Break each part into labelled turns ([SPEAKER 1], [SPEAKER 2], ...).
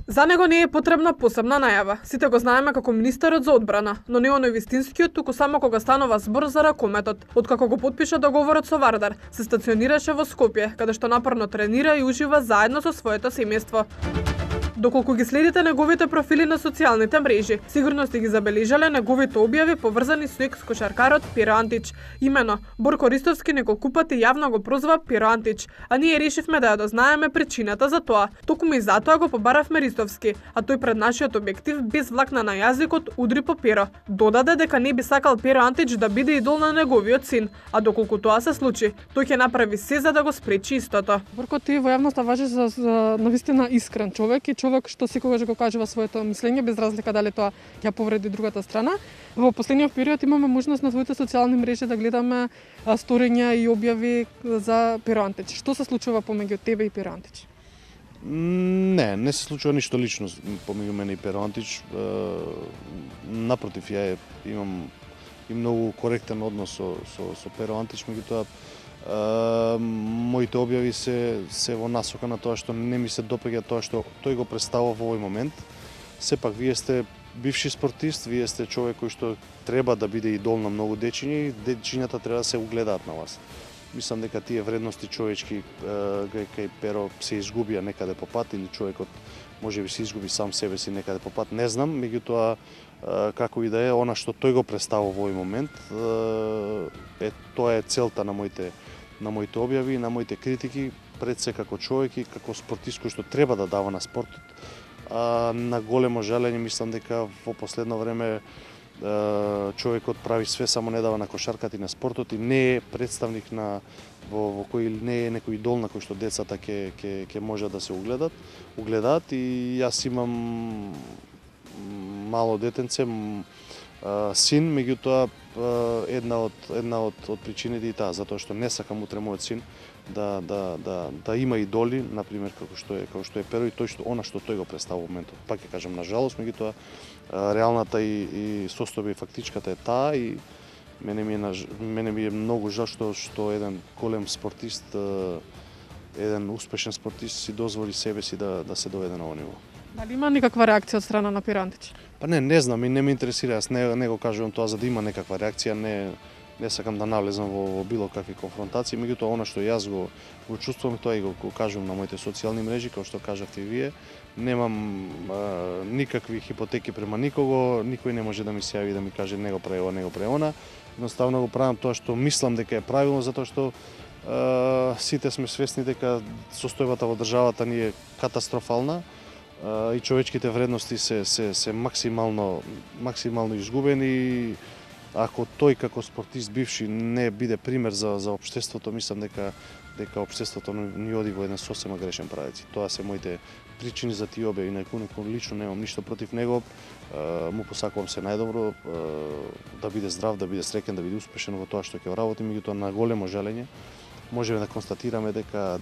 [SPEAKER 1] За него не е потребна посебна најава. Сите го знаеме како министерот за одбрана, но не оној вистинскиот, туку само кога станува збор за ракометот. Откако го потпиша договорот со Вардар, се стационираше во Скопје, каде што напорно тренира и ужива заедно со своето семејство. Доколку ги следите неговите профили на социјалните мрежи, сигурно сте ги забележале неговите објави поврзани со екс-кошаркарот Пиро Антич. Имено, Борко Ристовски неколку пати јавно го прозваа Пиро Антич, а ние решивме да ја дознаеме причината за тоа. Токму и затоа го побаравме Ристовски, а тој пред нашиот објектив без влакна на јазикот удри по Пиро. Додаде дека не би сакал Пиро Антич да биде идол на неговиот син, а доколку тоа се случи, тој ќе направи се за да го спречи истото.
[SPEAKER 2] Борко, ти во јавноста важиш за навистина искрен човек и човек што секогаш го кажува своето мислење без разлика дали тоа ќе повреди другата страна. Во последниот период имаме можност на твоите социјални мрежи да гледаме сторења и објави за Пиро Антич. Што се случува помеѓу тебе и Пиро Антич?
[SPEAKER 3] Не се случува ништо лично помеѓу мене и Пиро Антич. Напротив, ја имам и многу коректен однос со Пиро Антич, меѓутоа моите објави се во насока на тоа што не ми се допаѓа тоа што тој го представува во овој момент. Сепак вие сте бивши спортист, вие сте човек кој што треба да биде идол на многу дечиња и дечињата треба да се угледаат на вас. Мислам дека тие вредности човечки кај Перо се изгубија некаде по пат или човекот можеби се изгуби сам себе си некаде по пат, не знам, меѓутоа како и да е, она што тој го представува во овој момент, тоа е целта на моите објави, на моите критики, пред се како човек и како спортист кој што треба да дава на спортот. На големо жалење мислам дека во последно време човекот прави све, само не дава на кошарката и на спортот и не е представник во кој не е некој идол на кој што децата ќе можат да се угледаат и јас имам мало детенце, син, меѓутоа една од причините и таа, затоа што не сакам утре мојот син да има идоли, например како што е Перо и она што тој го представува во моментот. Пак ќе кажам на жалост, меѓутоа реалната и состојба и фактичката е таа и мене ми е многу жал што еден голем спортист, еден успешен спортист си дозволи себе си да се доведе на овој ниво.
[SPEAKER 2] Дали има никаква реакција од страна на Пиро Антич?
[SPEAKER 3] Па не знам и не ме интересира, јас не го кажувам тоа за да има некаква реакција, не сакам да навлезам во било какви конфронтации, меѓутоа она што јас го чувствувам, тоа и го кажувам на моите социјални мрежи, како што кажавте и вие, немам никакви хипотеки према никого, никој не може да ми се јави да ми каже не го прави ова, не го прави она. Едноставно го правам тоа што мислам дека е правилно, затоа што сите сме свесни дека состојбата во државата ни е катастрофална и човечките вредности се максимално изгубени и ако тој како спортист бивши не биде пример за општеството, мислам дека општеството ни оди во еден сосема грешен правец. Тоа се моите причини за тие објави, инаку лично немам ништо против него. Му посакувам се најдобро, да биде здрав, да биде среќен, да биде успешен во тоа што ќе работи, меѓутоа на големо жалење можеме да констатираме дека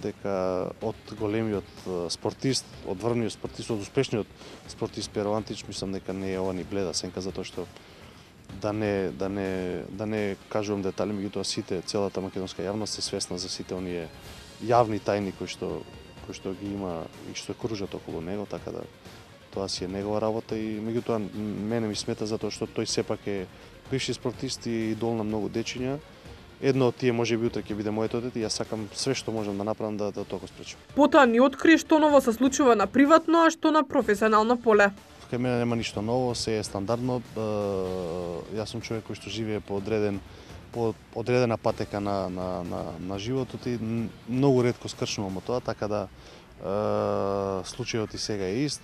[SPEAKER 3] од големиот спортист, од врвниот спортист, од успешниот спортист Пиро Антич, мислам дека не е ова ни бледа сенка, затоа што да не кажувам детали, меѓутоа целата македонска јавност е свесна за сите оние јавни тајни кои што ги има и што кружат околу него, така да тоа си е негова работа и меѓутоа мене ми смета затоа што тој сепак е бивши спортист и идол на многу дечиња. Едно од тие можеби утре ќе биде моето дете и јас сакам све што можам да направам да тоа го спречам.
[SPEAKER 1] Потоа ни откри што ново се случува на приватно, а што на професионално поле.
[SPEAKER 3] Кај мене нема ништо ново, се е стандардно. Јас сум човек кој што живее по одредена патека на животот и многу ретко скршнувам од тоа, така да случајот и сега е ист.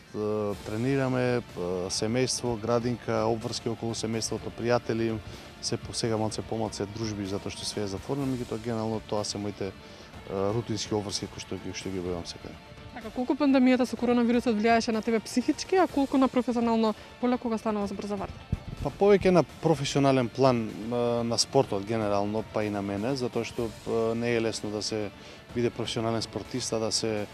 [SPEAKER 3] Тренираме, семејство, градинка, обврски околу семејството, пријатели, сега малце помалце дружби затоа што све е затворено, меѓутоа генерално тоа се моите рутински обврски кои што ги објавам секаде.
[SPEAKER 2] Така, колку пандемијата со коронавирусот влијаеше на тебе психички, а колку на професионално поле кога станува збор за Вардар?
[SPEAKER 3] Па повеќе на професионален план на спортот генерално, па и на мене, затоа што не е лесно да се биде професионален спортист, да се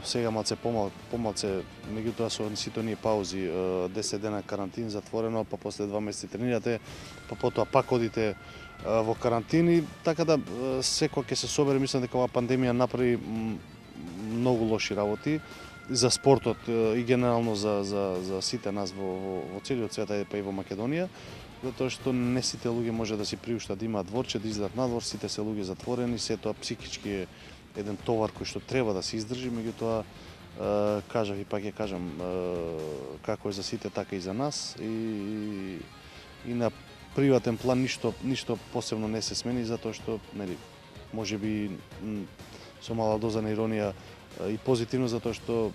[SPEAKER 3] сега малце помалце, меѓутоа со сите оние паузи, 10 дена карантин затворено, па после 2 месеци тренирате, па потоа пак одите во карантин и така да секој ќе се собере, мислам дека оваа пандемија направи многу лоши работи. за спортот и генерално за сите нас во целиот свет, па и во Македонија, затоа што не сите луѓе може да си приуштат да имаат дворче, да излезат надвор, сите се луѓе затворени, се тоа психички е еден товар кој што треба да се издржи, меѓутоа кажав и пак ја кажам, како е за сите, така и за нас, и на приватен план ништо посебно не се смени, затоа што, нели, можеби со мала доза на иронија и позитивно, затоа што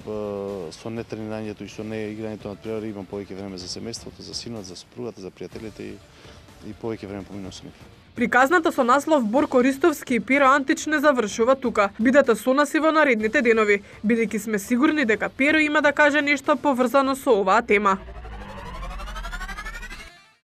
[SPEAKER 3] со нетренирањето и со неиграњето на надпревари имам повеќе време за семејството, за синот, за сопругата, за пријателите и повеќе време поминувам со нив.
[SPEAKER 1] Приказната со наслов Борко Ристовски и Пиро Антич не завршува тука. Бидете со нас и во наредните денови, бидејќи сме сигурни дека Пиро има да каже нешто поврзано со оваа тема.